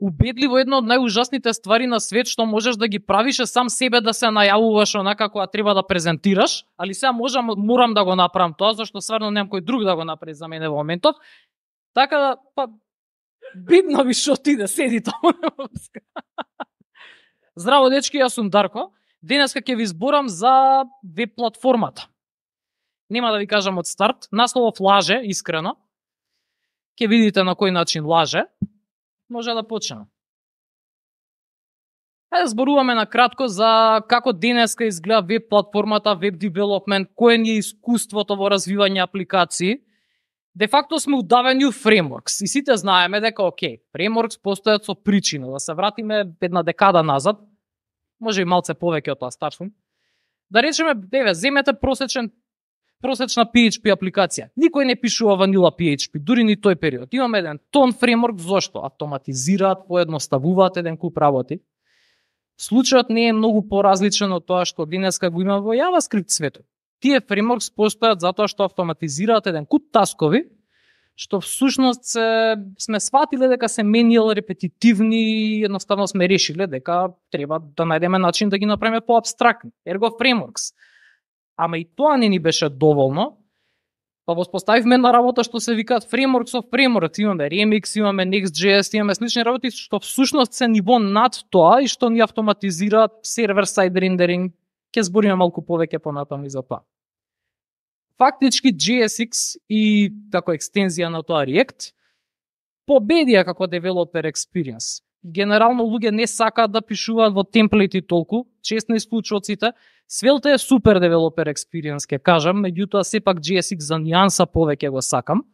убедливо една од најужасните ствари на свет што можеш да ги правиш е сам себе да се најавуваш онака кога треба да презентираш, али сега морам да го направам тоа, зашто стварно немам кој друг да го направи за мене во моментов. Така да, па, бидно ви што ти да седи тоа. Здраво, дечки, јас сум Дарко. Денеска ќе ви зборам за веб платформата. Нема да ви кажам од старт. Насловов лаже, искрено. Ќе видите на кој начин лаже. Може да почнеме. Хајде зборуваме на кратко за како денеска изгледа веб платформата, веб девелопмент, кое ни е искуството во развивање апликации. Де факто сме удавени у фреймворкс и сите знаеме дека фреймворкс постојат со причина. Да се вратиме една декада назад, може и малце повеќе од тоа, стар сум. Да речеме, земете просечна PHP апликација. Никој не пишува ванила PHP, дури ни тој период. Имаме еден тон фреймворк, зошто? Автоматизираат, поедноставуваат еден куп работи. Случајот не е многу поразличен од тоа што денеска го има во JavaScript светот. Тие фреймворкс постојат затоа што автоматизираат еден куп таскови, што всушност сме сватиле дека се менијал репетитивни и едноставно сме решиле дека треба да најдеме начин да ги направиме поабстрактни. Ерго фреймворкс. Ама и тоа не ни беше доволно, па воспоставивме на работа што се викаат frameworks of frameworks. Имаме Remix, имаме Next.js, имаме слични работи што всушност се ниво над тоа и што ни автоматизираат сервер-сайд рендеринг. Ќе збориме малку повеќе понатаму и за тоа. Фактички JSX и како екстензија на тоа React победија како developer experience. Генерално луѓе не сакаат да пишуваат во темплети толку, често исклучоците. Svelte е супер developer experience, ќе кажам, меѓутоа сепак JSX за нијанса повеќе го сакам.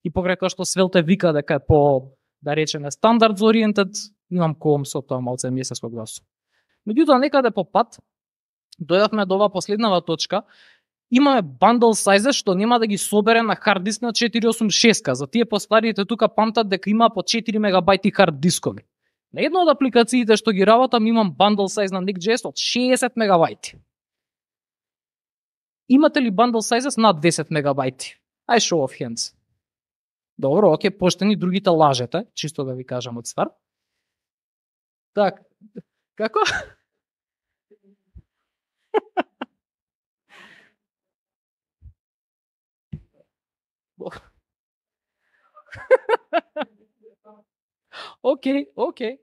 И покрај тоа што Svelte вика дека е по, да речеме, standards oriented, имам коум со тоа малце месецко гласо. Меѓутоа некаде по пат дојдовме до оваа последнава точка. Имаме bundle size што нема да ги собере на хард диск на 486. За тие постарите тука памтат дека има по 4 мегабајти хард дискови. На една од апликациите што ги работам имам bundle size на Next.js од 60 мегабајти. Имате ли bundle sizes над 10 мегабајти? Ај show of hands. Добро, оке, поштени, другите лажете, чисто да ви кажам од старт. Так, како? Океј.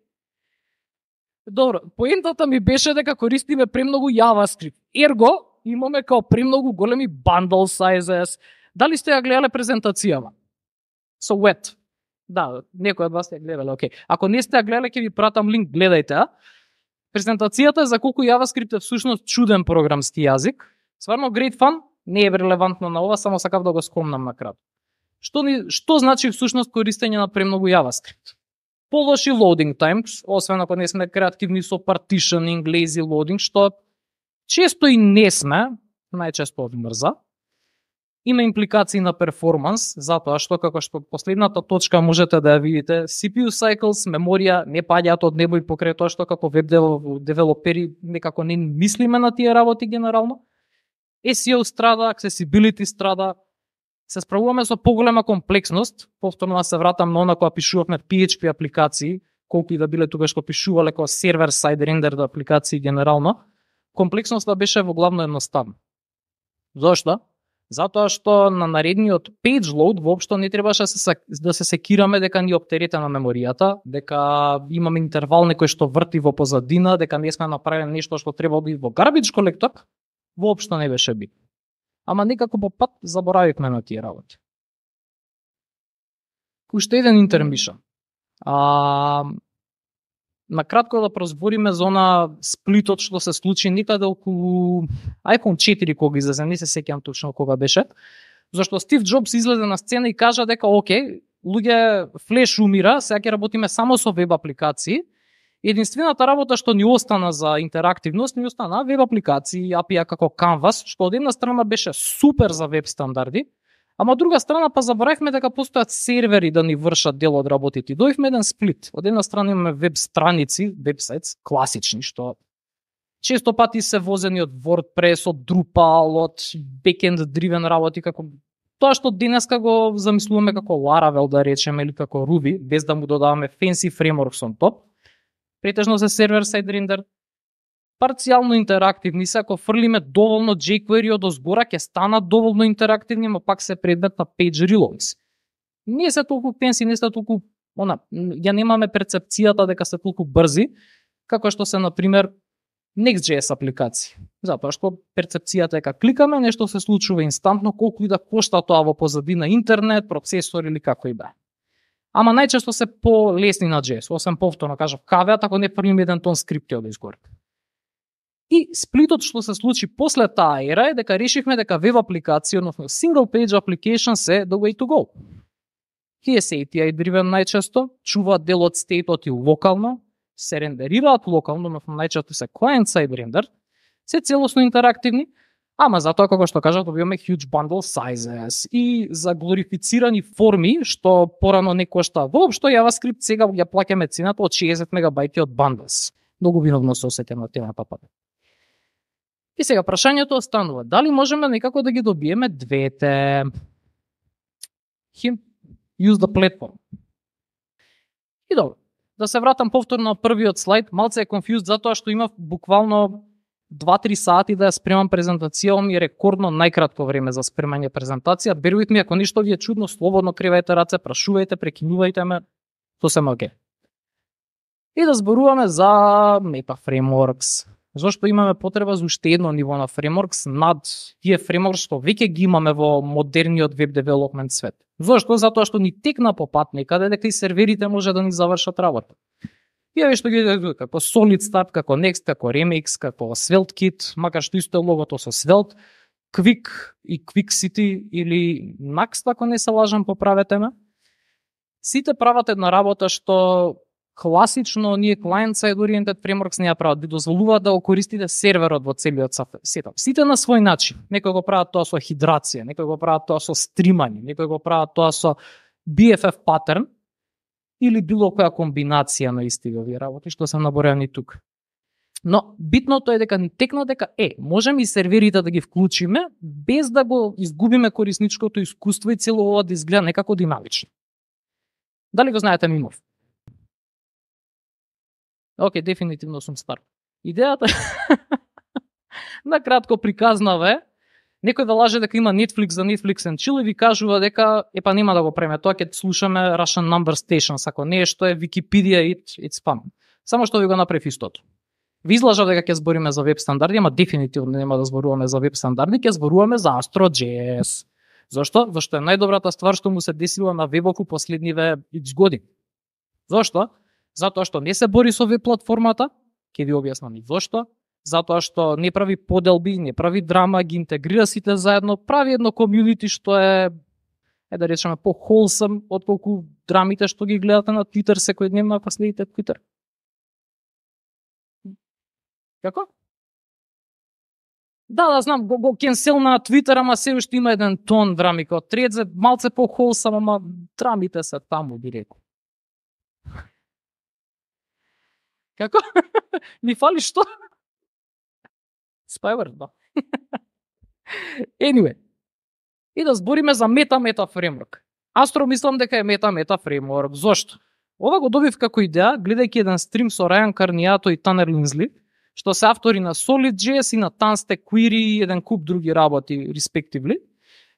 Добро, поентата ми беше дека користиме премногу JavaScript. Ерго, имаме као премногу големи bundle sizes. Дали сте ја гледале презентацијава? So wet. Да, некој од вас ја гледале, окей. Ако не сте ја гледале, ќе ви пратам линк, гледајте. Презентацијата е за колку JavaScript е всушност чуден програмски јазик. Сварно great fun, не е релевантно на ова, само сакав да го скомнам на кратко. Што значи всушност користење на премногу JavaScript? Полоши loading times, освен ако не сме креативни со partitioning, lazy loading, што често и не сме, најчесто одмрза. Има импликации на перформанс, затоа што, како што последната точка можете да ја видите, CPU cycles, меморија не паѓаат од небо и покрај тоа што како веб девелопери некако не мислиме на тие работи генерално. SEO страда, accessibility страда, се справуваме со поголема комплексност, повторно се вратам на она кога пишувавме PHP апликации, колку и да биле тогаш кога пишувале како сервер-сайд рендер апликации генерално, комплексноста беше во главно едноставна. Зошто? Затоа што на наредниот page load воопшто не требаше да се секираме дека ни оптеретена меморијата, дека имаме интервал некој што врти во позадина, дека не сме направиле нешто што треба да иде во garbage collector, воопшто не беше битно. Ама некако по пат заборавивме на тие работи. Уште еден интермишн. На кратко да прозбориме за она сплитот што се случи некаде околу iPhone 4 кога излезе, не се сеќавам точно кога беше. Зашто Стив Џобс излезе на сцена и кажа дека окей, луѓе, флеш умира, сега ќе работиме само со веб апликации. Единствената работа што ни остана за интерактивност, ни остана веб апликации, API како Canvas, што од една страна беше супер за веб стандарди, ама од друга страна па заборавме дека постојат сервери да ни вршат дел од работите. Дојавме еден сплит. Од една страна имаме веб страници, вебсајтс, класични, што често пати се возени од WordPress, од Drupal, од backend driven работи како Тоа што денеска го замислуваме како Laravel, да речеме, или како Ruby, без да му додаваме fancy frameworks on top, претежно се сервер-сайд рендер, парцијално интерактивни се, ако фрлиме доволно jQuery од озгора, ќе станат доволно интерактивни, но пак се предмет на page reloads. Не се толку fancy, не се толку, ја немаме перцепцијата дека се толку брзи, како што се, например, Next.js апликации. Затоа што перцепцијата е дека кликаме, нешто се случува инстантно, колку и да кошта тоа во позадина интернет, процесор или како и бе. Ама најчесто се полесни на JS, освен повторно кажав кавеат, ако не фрлиме еден тон скрипти од изгоре. И сплитот што се случи после таа ера е дека решивме дека веб апликација, односно single page applications е the way to go. Тие се API driven најчесто, чуваат дел од стейтот и локално, се рендерираат локално, но најчесто се client-side render, се целосно интерактивни, ама затоа како што кажав, добиваме huge bundle sizes и за глорифицирани форми, што порано не кошта воопшто JavaScript, сега ја плаќаме цената од 60 мегабајти од bundles. Многу виновно се осеќам на темата пат. И сега прашањето останува, дали можеме некако да ги добиеме двете? Use the platform. И добро. Да се вратам повторно на првиот слайд, малце е confused затоа што имав буквално 2-3 сати да ја спремам презентација, ми е рекордно најкратко време за спремање презентација. Bear with me, ако ништо ви е чудно, слободно кривајте раце, прашувајте, прекинувајте ме, тоа се окей. И да зборуваме за Meta Frameworks. Зошто имаме потреба за уште едно ниво на frameworks над тие frameworks што веќе ги имаме во модерниот веб девелопмент свет. Зошто? Затоа што ни текна по пат некаде дека и серверите може да ни завршат работа. И еве што ги како Solid Start, како Next, како Remix, како SvelteKit, макар што исто е логото со Svelte, Quick и QuickCity или Next, ако не се лажам, поправете ме. Сите прават една работа што класично ние client-side oriented frameworks не ја прават, ви дозволуваат да го користите серверот во целиот сетап. Сите на свој начин. Некои го прават тоа со хидрација, некои го прават тоа со стримање, некои го прават тоа со BFF паттерн или било која комбинација на исти овие работи што се наборени тук. Но битното е дека ни текна дека можеме и серверите да ги вклучиме без да го изгубиме корисничкото искуство и цело ова да изгледа некако динамично. Дали го знаете мимов? Океј, дефинитивно сум стар. Идејата на кратко приказнава некој да лаже дека има Netflix за Netflix and Chill и ви кажува дека нема да го преме тоа, ќе слушаме Russian Number Stations, ако не што е Wikipedia, it's fun. Само што ви го направив истото. Ви излажав дека ќе збориме за веб стандарди, ама дефинитивно нема да зборуваме за веб стандарди, ќе зборуваме за Astro.js. Зошто? Зашто е најдобрата ствар што му се десила на вебоку последниве X години. Зошто? Затоа што не се бори со веб платформата, ќе ви објаснам и зошто. Затоа што не прави поделби, не прави драма, ги интегрира сите заедно, прави едно комјунити што е да речеме по-wholesome отколку драмите што ги гледате на Twitter секојдневно ако следите Twitter. Како? Да, знам, го кенсел на Twitter, ама се уште има еден тон драми као Threads, малце по-wholesome, ама драмите се таму, би рекол. Како? Ми фали што? Spyware, да. Anyway. И да збориме за Meta Framework. Astro мислам дека е Meta Framework. Зошто? Ова го добив како идеја, гледајќи еден стрим со Райан Карниато и Танер Линзли, што се автори на Solid.js и на Tanstack Query и еден куп други работи, respectively,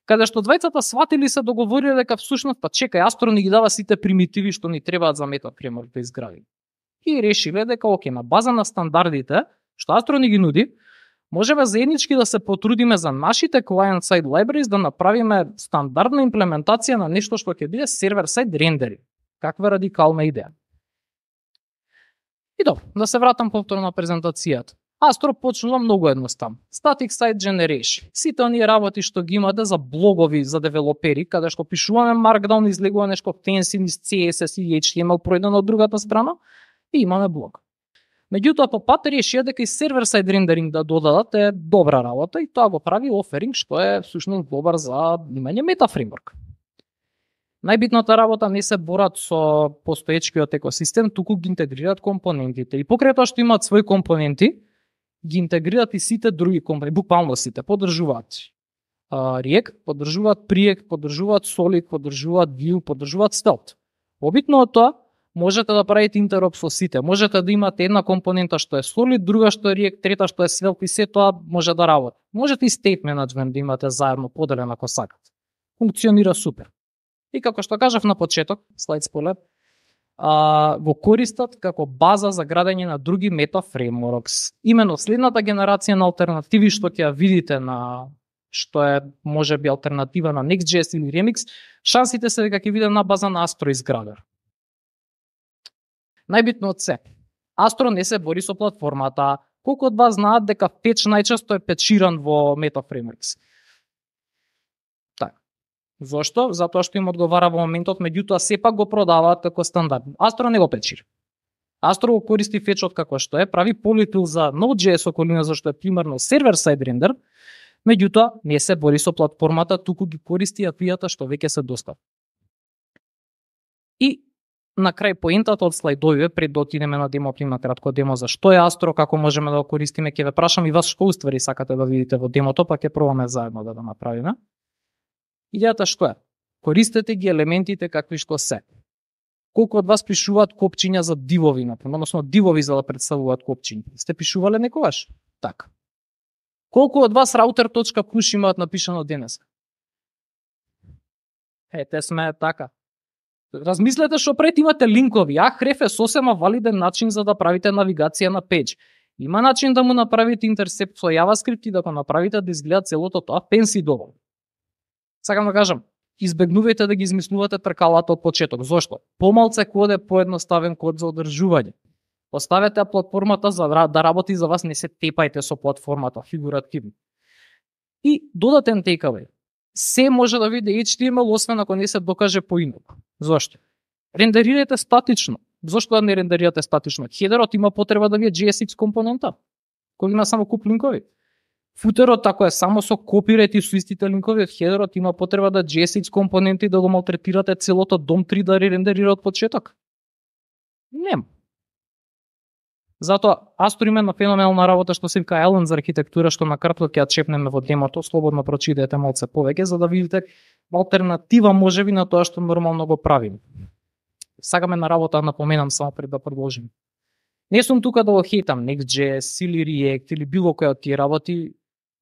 каде што двајцата сватили се договориле дека всушност, чекај, Astro ни ги дава сите примитиви што ни требаат за Meta Framework да изградиме. И решиле дека на база на стандардите, што Astro ни ги нуди, можеме заеднички да се потрудиме за нашите client-side libraries да направиме стандардна имплементација на нешто што ќе биде сервер-сайд рендери. Каква радикална идеја. И добро, да се вратам повторно на презентацијата. Astro почнува многу едноставно. Static Site Generation. Сите оние работи што ги имате за блогови за девелопери, каде што пишуваме Markdown, излегува нешто fancy низ CSS и HTML пројдено од другата страна и имаме блог. Меѓутоа по пат решија дека и сервер-сайд рендеринг да додадат е добра работа и тоа го прави оферинг што е всушност добар за имање Meta Framework. Најбитната работа не се борат со постоечкиот екосистем, туку ги интегрираат компонентите. И покрај тоа што имаат своји компоненти, ги интегрираат и сите други компоненти, буквално сите, поддржуваат. React, поддржуваат Preact, поддржуваат Solid, поддржуваат Vue, поддржуваат Svelte. Обитно од тоа, можете да правите интероп со сите. Можете да имате една компонента што е Solid, друга што е React, трета што е Svelte и се тоа може да работи. Можете и state management да имате заедно поделен ако сакате. Функционира супер. И како што кажав на почеток, слайд спойлер, го користат како база за градење на други мета фреймворкс. Именно следната генерација на алтернативи што ќе ја видите на што е можеби алтернатива на Next.js или Remix, шансите се дека ќе биде на база на Astro изграден. Најбитно од се, Astro не се бори со платформата. Колку од вас знаат дека Fetch најчесто е печиран во Meta Frameworks? Зошто? Затоа што им одговара во моментот, меѓутоа сепак го продаваат како стандард. Astro не го печири. Astro го користи фетчот како што е, прави полифил за Node.js околина зашто е примерно сервер-сайд рендер, меѓутоа не се бори со платформата, туку ги користи API-та што веќе се достапни. И на крај поентата од слайдовите, пред да отидеме на демо, на кратко демо за што е Astro, како можеме да го користиме, ќе ве прашам и вас што уствари сакате да видите во демото, па ќе пробаме заедно да направиме. Идејата што е? Користете ги елементите какви што се. Колку од вас пишуваат копчиња за дивови, например, односно дивови за да представуваат копчиња? Сте пишувале некогаш? Така. Колку од вас router.push имаат напишано денес? Те сме така. Размислете што пред имате линкови. Ahref е сосема валиден начин за да правите навигација на пејдж. Има начин да му направите интерсепт со JavaScript и да го направите да изгледа целото тоа fancy доволно. Сакам да кажам, избегнувајте да ги измислувате тркалата од почеток. Зошто? Помалце код е поедноставен код за одржување. Оставете платформата за да работи за вас, не се тепајте со платформата, фигуративно. И додатен takeaway. Се може да види HTML, освен ако не се докаже поинаку. Зошто? Рендерирате статично. Зошто да не рендерирате статично? Хедерот има потреба да ви е JSX компонента, кој има само куп линкови. Футерот, ако е само со копирайт и со истите линкови од хедерот, има потреба да JSX компоненти да го малтретирате целото DOM 3 да рендерира од почеток. Нема. Затоа Astro има на феноменална работа што се вика Island за архитектура, што на кратко ќе ја чепнеме во демото, слободно прочитајте малце повеќе за да видите алтернатива можеби на тоа што нормално го правиме. Сакаме на работа напоменам само пред да продолжим. Не сум тука да го хейтам Next.js или React или било која од тие работи.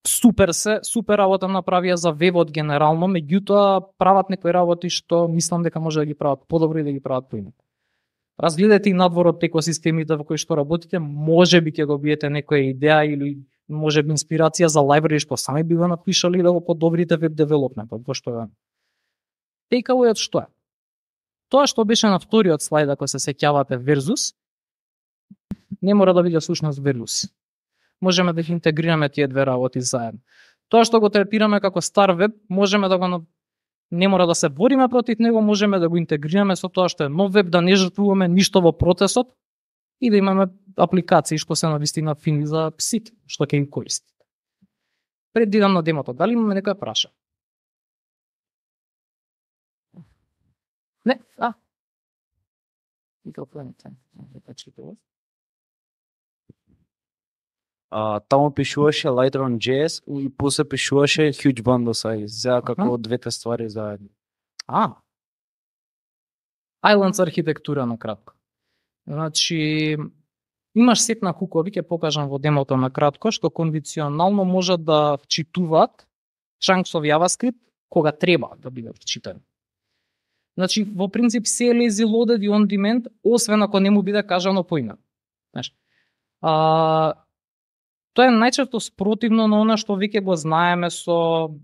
Супер работа направија за вебот генерално, меѓутоа прават некои работи што мислам дека може да ги прават подобро и да ги прават поинаку. Разгледате и надвор од екосистемите во кои што работите, можеби ќе го биете некоја идеја или можеби инспирација за library што сами би го напишале да го подобрите веб девелопментот, во што е. Takeaway што е? Тоа што беше на вториот слайд, ако се сеќавате, versus, не мора да биде сушност versus. Можеме да ги интегрираме тие две работи заедно. Тоа што го третираме како стар веб, можеме да го не мора да се бориме против него, можеме да го интегрираме со тоа што е нов веб, да не жртвуваме ништо во процесот и да имаме апликации што се навистина фини за сите, што ќе ги користите. Пред да идам на демото, дали имаме некоја праша? Не, Таму пишуваше Lightroom.js и после пишуваше Huge Bundle Size, за како двете ствари заедно. Islands архитектура на кратко. Значи, имаш сет на хукови, ќе покажам во демото на кратко, што конвенционално можат да вчитуваат chunks of JavaScript кога треба да биде вчитани. Значи, во принцип се е lazy loaded и on demand, освен ако не му биде кажано поинаку. Знаеш, тоа е најчесто спротивно на она што веќе го знаеме со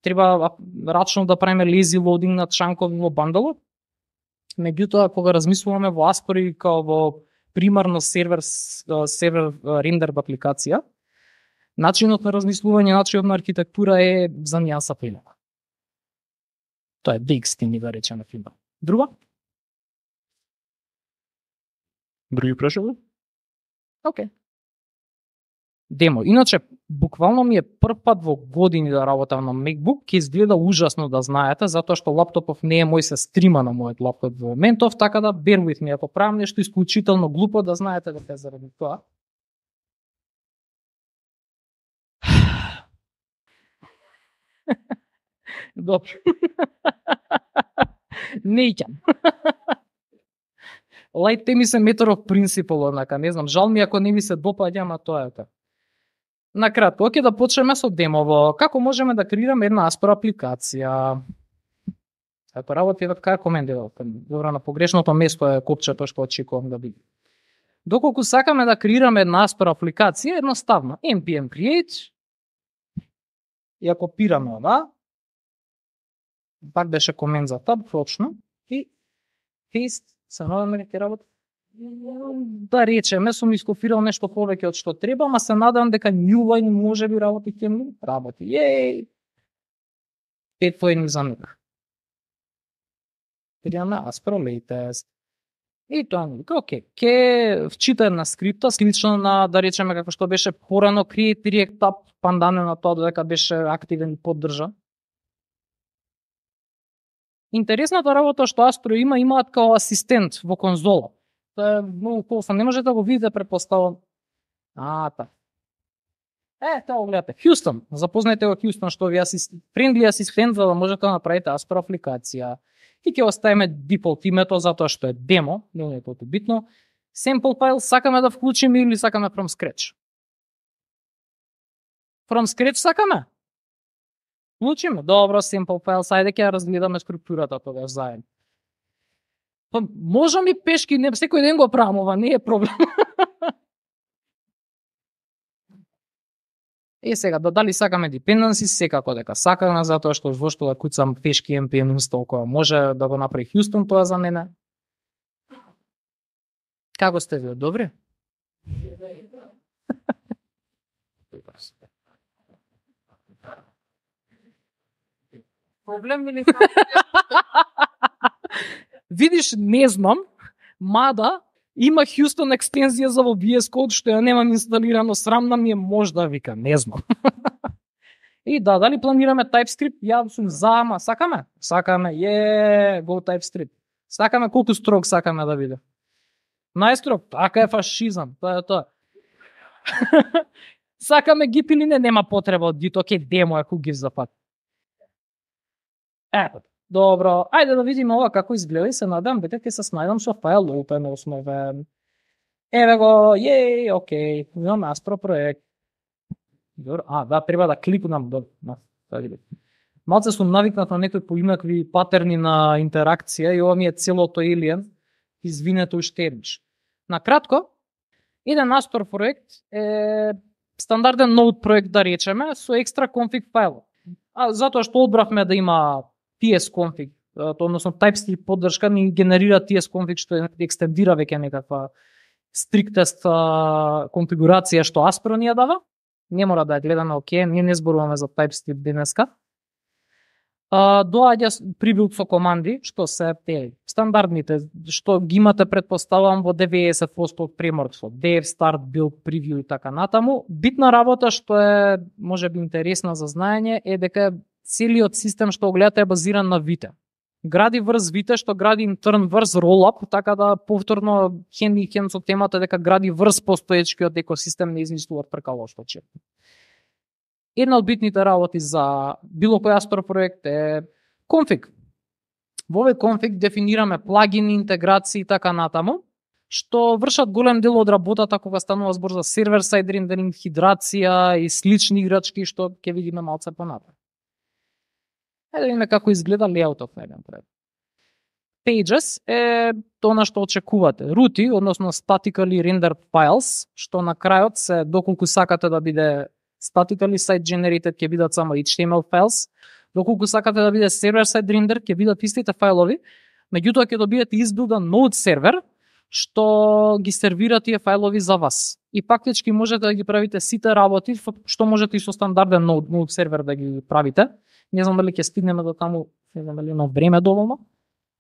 треба рачно да правиме lazy loading на чанкови во бандалот. Меѓутоа кога размислуваме во Aspro као во примарно сервер рендер апликација, начинот на размислување, начинот на архитектура е за нијанса поинаку. Тоа е big steam да речеме филм. Други прашања? Океј. Демо. Иначе, буквално ми е прв пат во години да работам на MacBook, ќе изгледа ужасно да знаете, затоа што лаптопов не е мој, се стрима на мојот лаптоп во моментов, така да bear with me, ако правам нешто исклучително глупо, да знаете дека е заради тоа. Добро. Неќам. Лајте ми се метров принципол, однака, не знам, жал ми ако не ми се допаѓа, ама тоа е така. Накратко, ќе да почнеме со демово. Како можеме да креираме една Aspro апликација? Ако работи така комендира, добро, на погрешното место е копчето што очекувам да биде. Доколку сакаме да креираме една Aspro апликација, едноставно, npm create, и ја копираме ова, пак беше комент за таб, точно, и paste, се надаме ли ќе работи? Да речеме, сум ископирал нешто повеќе од што треба, ама се надам дека new line може би работи темно. Работи, јеј! 5 поени за нека. Креираме Aspro latest. И тоа ми вика, окей, ке вчита една скрипта, слично на, да речеме, како што беше порано create direct tab, пандане на тоа додека беше активен и поддржа. Интересната работа што Aspro имаат као асистент во конзола. Тоа е многу кофа, не можете да го видите, предпоставам. Та. Тоа го гледате. Houston, запознајте го Houston, што ви френдли асистент за да можете да направите Aspro апликација. И ќе оставиме default името затоа што е демо, не е толку битно. Sample file сакаме да вклучиме или сакаме from scratch? From scratch сакаме? Вклучиме. Добро, sample file, сајде ќе разгледаме структурата тогаш заедно. Па можам и пешки, не секој ден го правам ова, не е проблем. Сега, дали сакаме dependencies, секако дека сакаме, затоа што во што да куцам пешки npm install која може да го направи Houston, тоа за мене. Како сте ви, добри? Проблем или видиш, не знам, мада има Houston екстензија за во VS Code што ја немам инсталирано, срамна ми е, можда вика, не знам. И дали планираме TypeScript? Ја сум за, ама сакаме? Сакаме, go TypeScript. Сакаме, колку строг сакаме да биде? Најстрог, така е фашизам, тоа е тоа. Сакаме Git или не, нема потреба од Git, окей, демо е, who gives a fuck. Ето. Добро, ајде да видиме ова како изгледа и се надам дека ќе се снајдам со файл open основен. Еве го, окей, имаме Aspro проект. Добро, треба да кликнам до малце сум навикнат на некои поинакви патерни на интеракција и ова ми е целото alien. Извинете уште еднаш. Накратко, еден Aspro проект е стандарден Node проект, да речеме, со екстра config файл. Затоа што одбравме да има tsconfig, односно TypeScript поддршка ни генерира tsconfig што екстендира веќе некаква стриктест конфигурација што Aspro ни ја дава. Не мора да ја гледаме, окей, ние не зборуваме за TypeScript денеска. Доаѓа прибилд со команди, што се стандардните, што ги имате, предпоставам, во 90% од фреймворксот, dev, start, build, preview и така натаму. Битна работа што е можеби интересна за знаење е дека целиот систем што го гледате е базиран на Vite. Гради врз Vite, што гради интерн врз Rollup, така да повторно хен и хен со темата дека гради врз постоечкиот екосистем, не измислуваат прекало што че. Една од битните работи за било кој Aspro проект е config. Во овој config дефинираме плагини, интеграции и така натаму, што вршат голем дел од работата кога станува збор за сервер-сайд рендеринг, хидрација и слични играчки што ќе видиме малце понатаму. Да видиме како изгледа леаутот на еден проект. Pages е тоа што очекувате. Рути, односно statically rendered files, што на крајот се, доколку сакате да биде statically site generated, ќе бидат само HTML files. Доколку сакате да биде server-side render, ќе бидат истите фајлови, меѓутоа ќе добиете избилдан Node сервер, што ги сервира тие фајлови за вас. И фактички можете да ги правите сите работи, што можете и со стандарден Node сервер да ги правите. Не знам дали ќе стигнеме до таму, не знам дали има време доволно,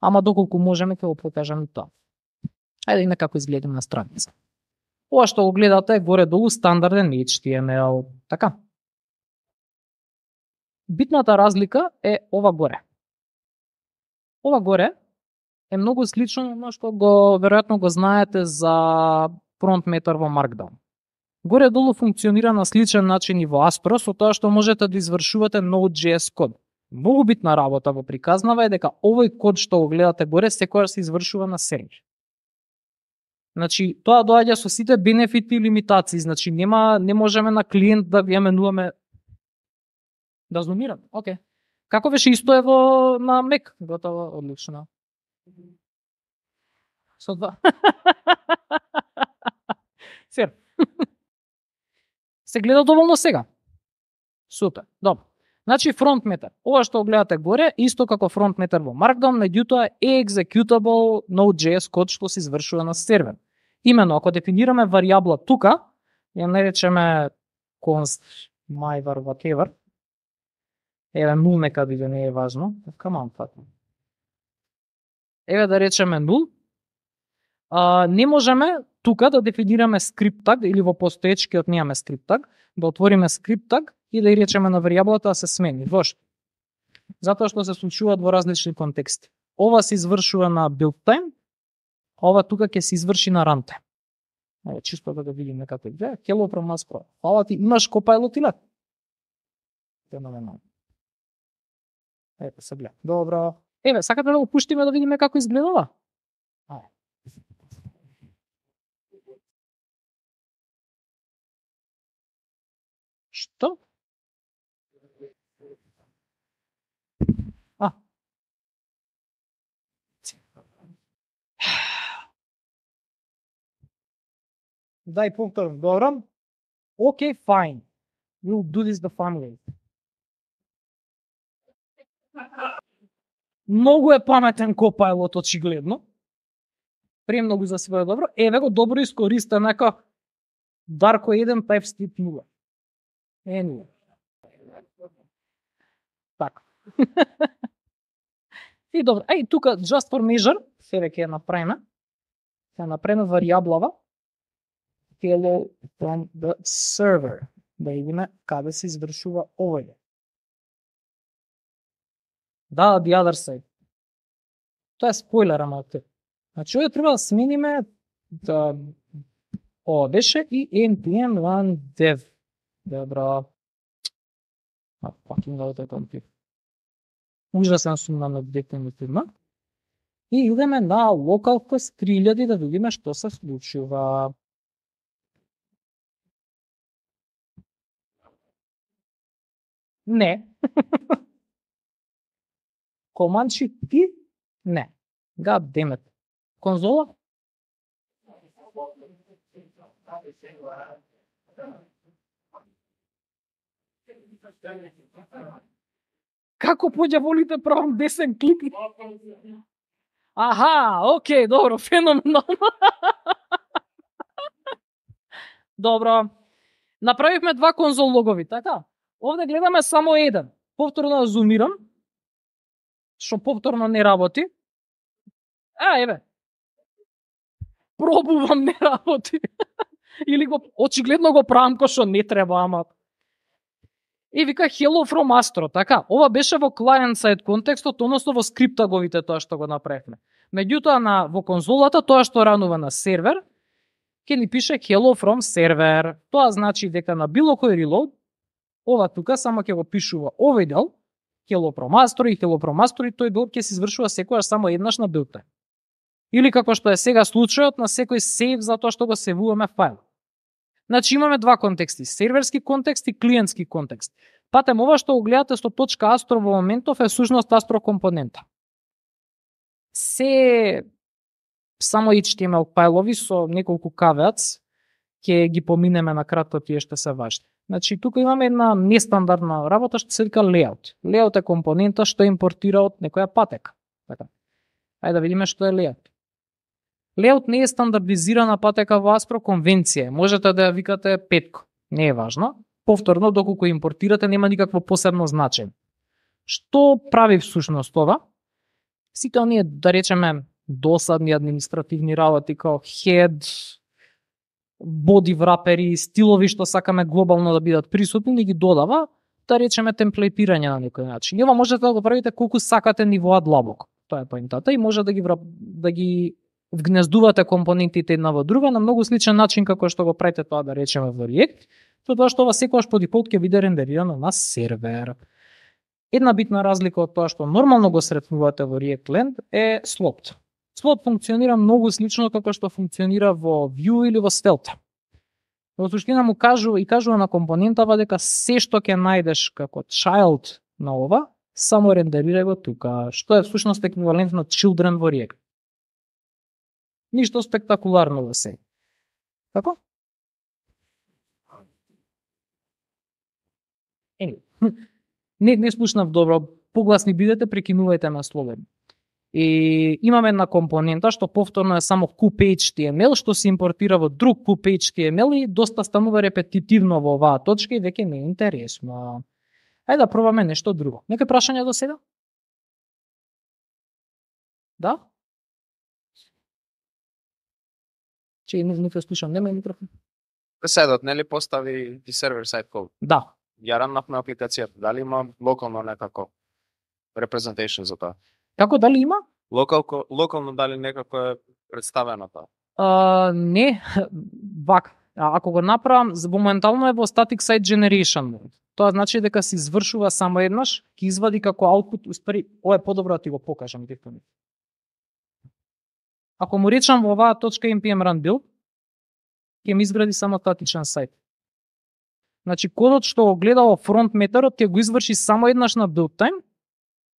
ама доколку можеме ќе го покажеме тоа. Ајде и како изгледа на страница. Ова што го гледате е горе-долу стандарден HTML, така. Битната разлика е ова горе. Ова горе е многу слично на што го веројатно го знаете за front matter во Markdown. горе-долу функционира на сличен начин и во Aspro, со тоа што можете да извршувате Node.js код. Многу битна работа во приказнава е дека овој код што го гледате горе секогаш се извршува на сервер. Значи, тоа доаѓа со сите бенефити и лимитации, значи не можеме на клиент да ја менуваме да зумирам. Океј. Како беше исто е во на Mac? Готово, одлично. Со два. Сер. Се гледа доволно сега. Супер. Добро. Значи FrontMatter. Ова што гледате горе, исто како FrontMatter во Markdown, меѓутоа е executable Node.js код што се извршува на сервер. Имено, ако дефинираме варијабла тука, ја наречеме const myvar whatever. Еве нул нека биде, не е важно. Come on, fuck. Еве да речеме нул. Не можеме тука да дефинираме скрипт таг или во постоечкиот немаме скрипт таг, да отвориме скрипт таг и да ја речеме на варијаблата да се смени. Зошто? Затоа што се случуваат во различни контексти. Ова се извршува на build time, ова тука ќе се изврши на runtime. Еве чисто да видиме како е. Hello from Aspro. Фала ти, имаш Copilot или? Феноменално. Ето се гледа. Добро. Еве, сакате да го пуштиме да видиме како изгледала? Ајде. Што? Дај повторно, добро. Okay, fine. We'll do this the fun way. Многу е паметен Copilot, очигледно. Премногу за себе добро. Еве го добро искористен нека Darko 1 TypeScript 0. Anyway. Така. И добро. Ај, тука just for measure, сега ќе ја направиме. Ќе направиме варијаблава hello from the server. Да видиме каде се извршува овој. Да, the other side. Тоа е спойлер, ама те. Значи, овој треба да смениме да ова беше и npm run dev. Добро. Fucking out of it. Ужасен сум на дефинитивно. И идеме на localhost 3000 да видиме што се случува. Не. Command Shift P? Не. God damn it. Конзола? Како поѓа волите правам десен клик? Аха, окей, добро, феноменално. Добро. Направивме два конзол логови, така? Овде гледаме само еден. Повторно да зумирам. Што повторно не работи. Еве. Пробувам, не работи. Или го очигледно го правам кој што не треба, ама. И вика hello from Aspro, така. Ова беше во client side контекстот, односно во скриптаговите тоа што го направивме. Меѓутоа во конзолата тоа што ранува на сервер, ќе ни пише hello from server. Тоа значи дека на било кој reload, ова тука само ќе го пишува овој дел, hello from Aspro и hello from Aspro, и тој дел ќе се извршува секогаш само еднаш на build time. Или како што е сега случајот на секој сейв за тоа што го севуваме файл. Значи имаме два контексти, серверски контекст и клиентски контекст. Патем, ова што го гледате со точка Aspro во моментов е сушност Aspro компонента. Се само HTML фајлови со неколку caveats, ќе ги поминеме на кратко, тие што се важни. Значи тука имаме една нестандардна работа што се вика layout. Layout е компонента што импортира од некоја патека. Така. Ајде да видиме што е layout. Layout не е стандардизирана патека во Aspro конвенција. Можете да ја викате петко. Не е важно. Повторно, доколку импортирате, нема никакво посебно значење. Што прави всушност ова? Сите оние, да речеме, досадни административни работи, као head, body wrapperi, стилови што сакаме глобално да бидат присутни, ни ги додава, да речеме, темплейтирање на некој начин. И ова можете да го правите колку сакате нивоа длабоко. Тоа е поентата и може да ги вгнездувате компонентите една во друга на многу сличен начин како што го правите тоа, да речеме, во React, тоа што ова секогаш по дефолт ќе биде рендерирано на сервер. Една битна разлика од тоа што нормално го сретнувате во React Land е sloped. Sloped функционира многу слично како што функционира во Vue или во Svelte. Во суштина му кажува на компонентава дека се што ќе најдеш како child на ова, само рендерирај го тука, што е всушност еквивалент на children во React. Ништо спектакуларно да се. Како? Не слушнав добро, погласни бидете, прекинувајте ме слободно. И имаме една компонента што повторно е само CoupHTML, што се импортира во друг CoupHTML и доста станува репетитивно во оваа точка и веќе не е интересно. Ајде да пробаме нешто друго. Некои прашања до сега? Да? Че не те слушам, нема микрофон. Сајтот нели постави и сервер сайт код? Да. Ја ранавме апликацијата. Дали има локално некако representation за тоа? Како, дали има? Локално дали некако е представено тоа? Не, вака. Ако го направам, моментално е во static site generation mode. Тоа значи дека се извршува само еднаш, ќе извади како output, успари, ова е подобро да ти го покажам директно. Ако му речам во оваа точка npm run build, ќе ми изгради само статичен сайт. Значи кодот што го гледа во front методот ќе го изврши само еднаш на build time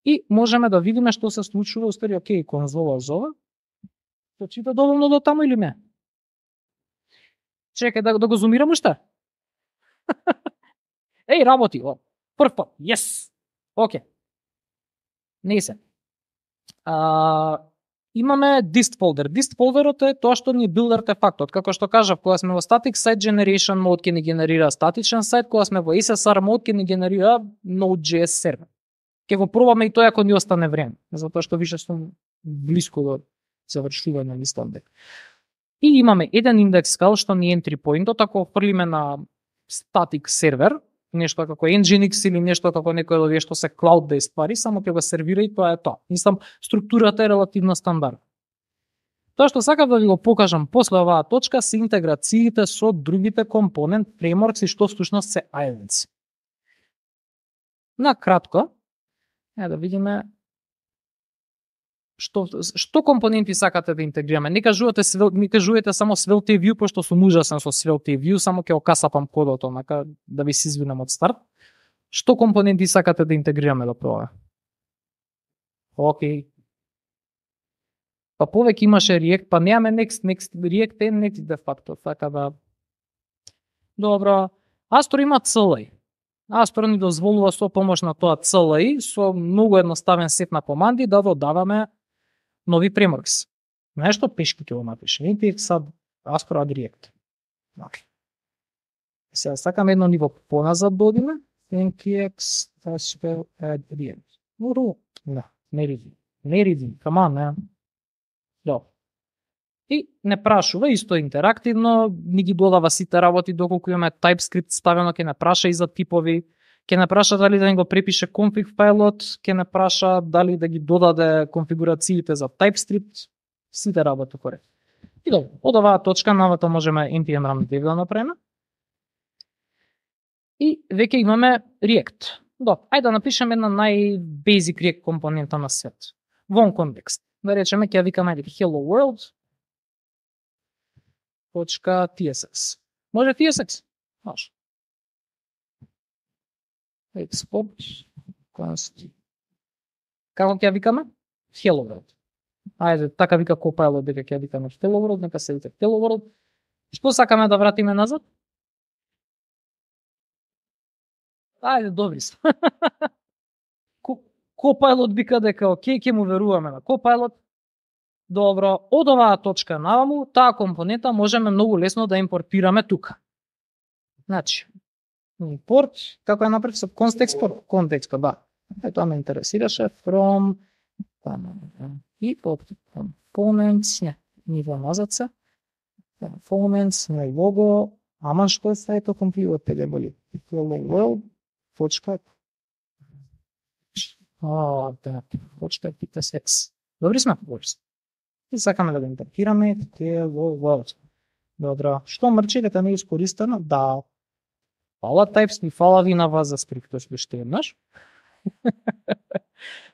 и можеме да видиме што се случува, успари, окей, конзола зова. Се чита доволно до таму или не? Чекај да го зумирам уште. Еј, работи, прв пат, yes, окей. Не се. Имаме dist folder. Dist folderот е тоа што ни build артефактот. Како што кажав, кога сме во static site generation mode ќе ни генерира статичен сайт, кога сме во SSR mode ќе ни генерира Node.js сервер. Ќе го пробаме и тоа ако ни остане време, затоа што више сум блиску до завршување на стандард. И имаме еден индекс файл што ни entry point-от, ако фрлиме на static сервер, нешто како Nginx или нешто како некој од овие што се cloud-based ствари, само ќе го сервира и тоа е тоа. Мислам, структурата е релативно стандардна. Тоа што сакав да ви го покажам после оваа точка се интеграциите со другите компонент frameworks и што всушност се islands. На кратко, да видиме што компоненти сакате да интегрираме. Не кажувате само Svelte Vue, пошто сум ужасен со Svelte Vue, само ќе окасапам кодот, онака да ви се извинам од старт. Што компоненти сакате да интегрираме да пробаме? Окей. Па повеќе имаше React, па немаме Next, React е next de facto, така да... Добро. Astor има CLI. Astor ни дозволува со помош на тоа CLI, со многу едноставен сет на команди да додаваме нови frameworks. Нешто пешки ќе го напише. Npx add Astor add React. Okay. Сега сакам едно ниво поназад да одиме. Npx Astor add React. Да, не reading. Come on, man. Да. И не прашува, исто интерактивно, ни ги додава сите работи доколку имаме TypeScript ставено, ќе не праша и за типови, ќе не праша дали да ни го препише config фајлот, ќе не праша дали да ги додаде конфигурациите за TypeScript, сите работи коректно. И добро, од оваа точка навато можеме npm run dev да направиме. И веќе имаме React. Добро, ајде да напишеме една нај-basic React компонента на свет. Вон контекст. Да речеме ќе викаме hello world .tsx. Може TSX? Може. Export const. Како ќе викаме? Hello world. Ајде, така вика Copilot дека ќе викаме hello world, нека се вика hello world. Што сакаме да вратиме назад? Ајде, добри сме. Copilot вика дека окей, ќе му веруваме на Copilot. Добро, од оваа точка наваму, таа компонента можеме многу лесно да импортираме тука. Значи, импорт, како е направи со контекст, да. Тоа ме интересираше, from, и components, ниво назад се, components, на лого, ама што е сајто комплиот, пеле боли, hello world, да, .tsx. Добри сме, добри сме. И сакаме да го интерпретираме Hello World. Добро. Што мрчи дека не е искористено? Да. Фала TypeScript, фала ви на вас за скриптот уште еднаш.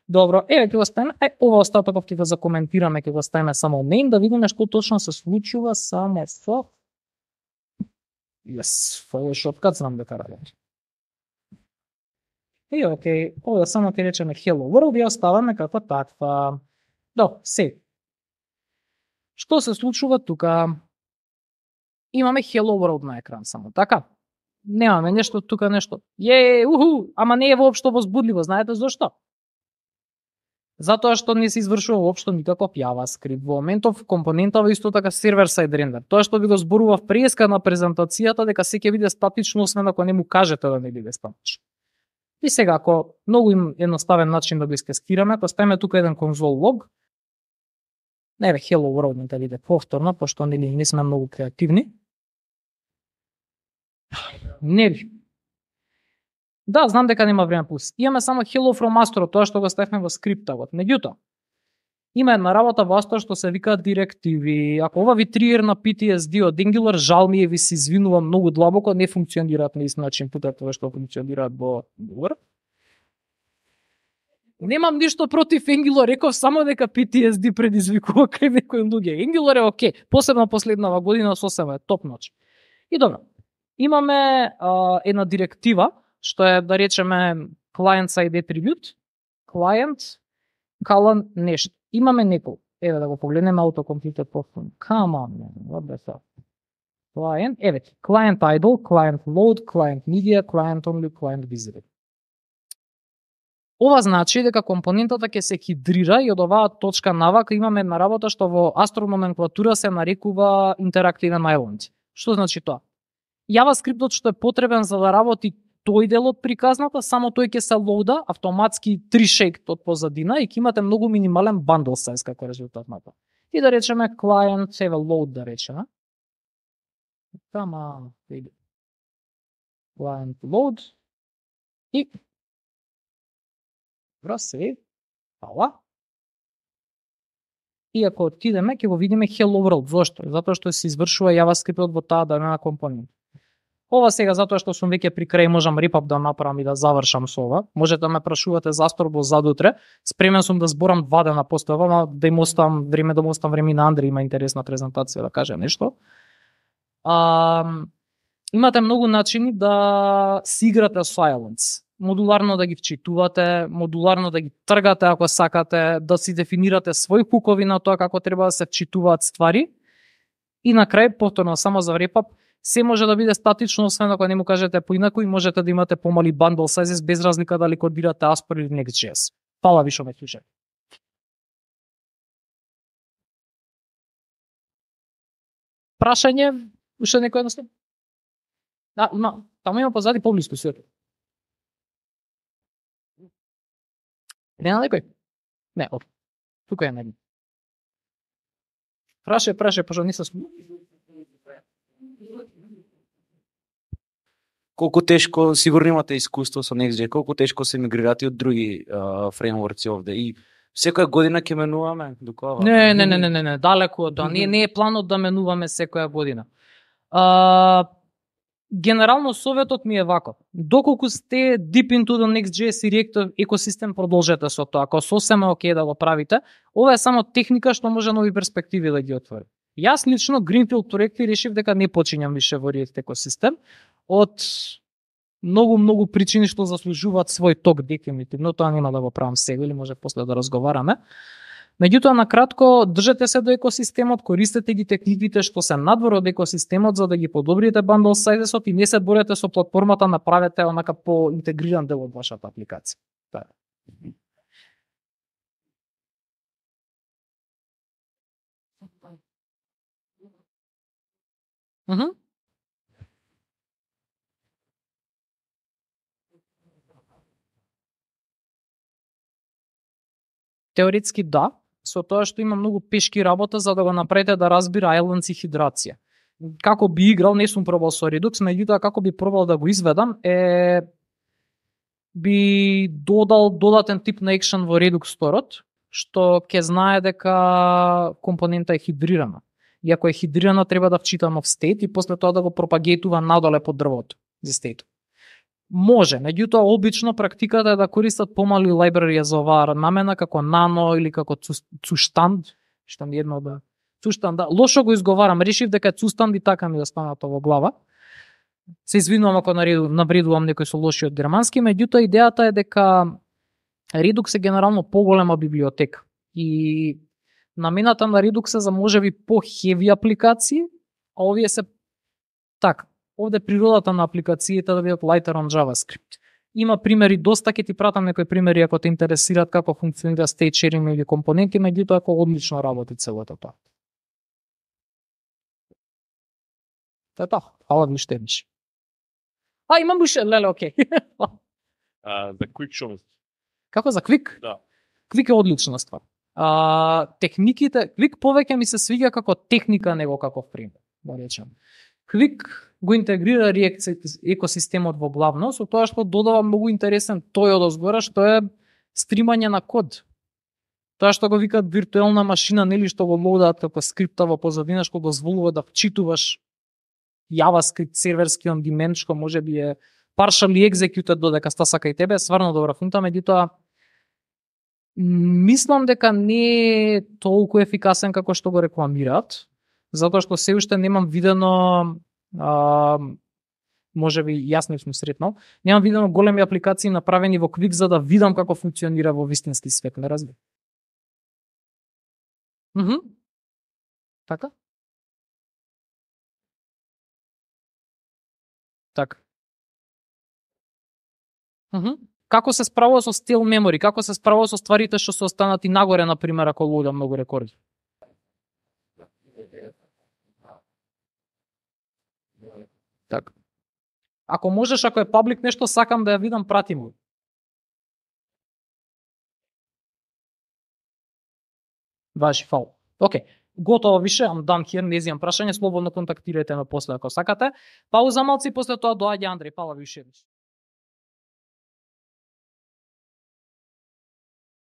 Добро, еве ќе го ставиме, ова остатокот ќе го закоментираме, ќе го ставиме само name да видиме што точно се случува само со Photoshop, кад знам дека работи. И окей, ова само ќе речеме Hello World и оставаме како таква. Се. Што се случува тука? Имаме Hello World на екран само, така? Немаме нешто тука нешто. Ама не е воопшто возбудливо, знаете зошто? Затоа што не се извршува воопшто никаков JavaScript. Во моментов компонентава исто така сервер-сайд рендер. Тоа што ви го зборував преска на презентацијата дека се ќе биде статично освен ако не му кажете да не биде статично. И сега ако многу едноставен начин да го искескираме, тоа ставиме тука еден console log. Еве Hello World да биде повторно, пошто не сме многу креативни. Нели. Да, знам дека нема време плюс. Имаме само Hello from Astro, тоа што го ставивме во скриптот. Меѓутоа, има една работа во Astro што се вика директиви. Ако ова ви тригер на PTSD од Angular, жал ми е, ви се извинувам многу длабоко, не функционираат на ист начин путат тоа што функционираат во Angular. Немам ништо против Angular, реков само дека PTSD предизвикува кај некои луѓе. Angular е окей, посебно последнава година сосема е топ ноч. И добро. Имаме една директива што е, да речеме, client side attribute, client, colon, нешто. Имаме неколку. Еве да го погледнеме autocompleted postfon. Come on, man, what the fuck? Client, еве, client idle, client load, client media, client only, client visible. Ова значи дека компонентата ќе се хидрира и од оваа точка навака имаме една работа што во Astro номенклатура се нарекува Interactive Island. Што значи тоа? JavaScriptот што е потребен за да работи тој дел од приказната, само тој ќе се лоуда автоматски 3 шейкт од позадина и ќе имате многу минимален bundle size како резултат на тоа. И да речеме client save load да речеме. Come on, client load и save. Фала. И ако отидеме ќе го видиме Hello World. Зошто? Затоа што се извршува JavaScript во таа дадена компонент. Ова сега затоа што сум веќе при крај, можам репап да направам и да завршам со ова. Можете да ме прашувате за Astro задутре. Спремен сум да зборам 2 дена после ова, но да им оставам време, на Андри, има интересна презентација да каже нешто. Имате многу начини да си играте со Islands. Модуларно да ги вчитувате, модуларно да ги тргате ако сакате, да си дефинирате своји хукови на тоа како треба да се вчитуваат ствари. И на крај, повторно само за репап, се може да биде статично, освен ако не му кажете поинаку и можете да имате помали bundle sizes без разлика дали кодирате Asper или Next.js. Фала ви што ме слушате. Прашање? Уште некој едноставно? Да, има позади поблиску светло. Нема некој? Не, тука е некој. Праше, пошто не се Колку тешко, сигурно имате искуство со Next.js, колку тешко се мигрирате од други фреймворци овде и секоја година ќе менуваме докога? Не, далеку од тоа. Не е планот да менуваме секоја година. Генерално советот ми е вако. Доколку сте deep into the Next.js и React екосистем, продолжете со тоа. Ако сосема окей да го правите, ова е само техника што може нови перспективи да ги отвори. Јас лично Greenfield проекти решив дека не почињам више во React екосистем од многу причини што заслужуваат свој ток дефинитивно, тоа нема да го правам сега или може после да разговараме. Меѓутоа, на кратко, држете се до екосистемот, користете ги техниките што се надвор од екосистемот за да ги подобрите bundle sizesот и не се борете со платформата, направете онака по-интегриран дел од вашата апликација. Тоа е. Теоретски да, со тоа што има многу пешки работа за да го направите да разбира Islands и хидрација. Како би играл, не сум пробал со Redux, меѓутоа како би пробал да го изведам би додал додатен тип на екшен во Redux Store-от, што ќе знае дека компонента е хидрирана. И ако е хидрирана, треба да вчита нов стейт и после тоа да го пропагейтува надоле под дрвото за стейтот. Може, меѓутоа обично практиката е да користат помали лайбрарија за оваа намена, како Nano или како Zustand, што ми едно да Zustand, да. Лошо го изговарам, решив дека е Zustand и така ми остана тоа во глава. Се извинувам ако навредувам некој со лоши од германски, меѓутоа идејата е дека Redux е генерално поголема библиотека и намената на Redux е за можеби по-хеви апликации, а овие се така. Овде природата на апликациите да бидат lighter on JavaScript. Има примери, доста ќе ти пратам некои примери ако те интересираат како функционира state sharing или компоненти, меѓутоа ако одлично работи целото тоа. Тоа, фала ви што имаш. Имам уште, леле, окей. За Quick Show. Како за Quick? Да. Quick е одлична ствар. Техниките, Quick повеќе ми се свиѓа како техника него како фреймворк, да речем. Quick го интегрира React екосистемот во главно, со тоа што додава многу интересен тој од озгора, што е стримање на код. Тоа што го викаат виртуелна машина, нели што го лоудаат како скрипта во позадина, што дозволува да вчитуваш JavaScript серверски on demand, што може би е partially executed додека ста сака и тебе, сварно добра фунта, меѓутоа мислам дека не е толку ефикасен како што го рекламираат, затоа што се уште немам видено, може би јас не сум сретнал, немам видено големи апликации направени во Quick за да видам како функционира во вистински свет, не разбирам. Така? Така. Како се справува со stale memory, како се справува со стварите што се останати нагоре, например, ако лоуда многу рекорди? Така. Ако можеш, ако е паблик нешто, сакам да ја видам, прати му. Важи, фал. Океј. Готово више, I'm done here, не изјам прашање, слободно контактирајте ме после ако сакате. Пауза малци, после тоа доаѓа Андреј, фала ви уште.